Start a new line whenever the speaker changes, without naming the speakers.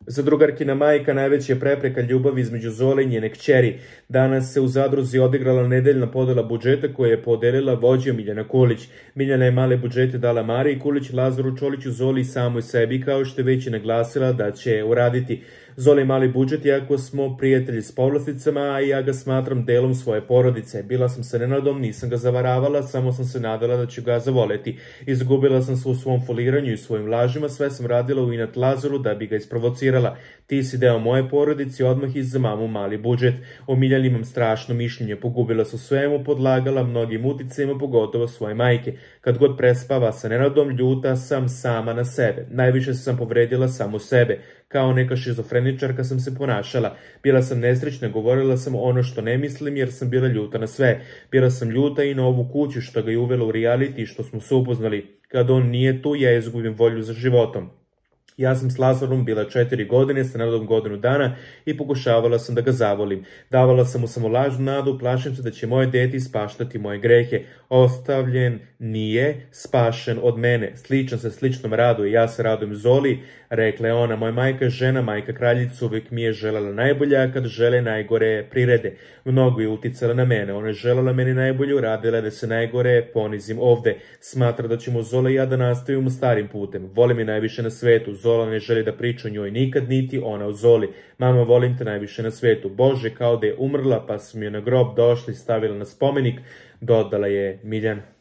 Za drugarkina majka najveća je prepreka ljubavi između Zole i njene kćeri. Danas se u zadruzi odigrala nedeljna podela budžeta koju je podelila vođa Miljana Kulić. Miljana je male budžete dala Mariji Kulić, Lazaru Čoliću, Zoli i samoj sebi, kao što je već i naglasila da će uraditi. Zoli mali budžet, iako smo prijatelji s povlasticama, a ja ga smatram delom svoje porodice. Bila sam sa Nenadom, nisam ga zavaravala, samo sam se nadala da ću ga zavoleti. Izgubila sam se u svom foliranju i svojim lažima, sve sam radila u inat Lazaru da bi ga isprovocirala. Ti si deo moje porodice, odmah iz za mamu mali budžet. O Miljani imam strašno mišljenje, pogubila se u svemu, podlagala mnogim uticajima, pogotovo svoje majke. Kad god prespava sa Nenadom, ljuta sam sama na sebe. Najviše sam povredila samo sebe. Kao neka šizofreničarka sam se ponašala. Bila sam nesrećna, govorila sam ono što ne mislim jer sam bila ljuta na sve. Bila sam ljuta i na ovu kuću što ga je uvela u reality što smo se upoznali. Kad on nije tu, ja izgubim volju za životom. Ja sam s Lazarom bila 4 godine, sa Nenadom godinu dana i pokušavala sam da ga zavolim. Davala sam mu samo lažnu nadu, plašim se da će moje dete ispaštati moje grehe. Ostavljen nije, spašen od mene. Sličan se sličnom raduje, ja se radujem Zoli, rekla je ona. Moja majka je žena, majka kraljica, uvijek mi je želela najbolje, a kad žele najgore prirede. Mnogo je uticala na mene, ona je želela meni najbolje, uradila da se najgore ponizim ovde. Smatra da ćemo Zola i ja da nastavimo starim putem. Voli me najviše na svetu. Zola ne želi da priča o njoj nikad, niti ona o Zoli. Mama, volim te najviše na svetu. Bože, kao da je umrla, pa sam je na grob došla i stavila na spomenik, dodala je Miljana.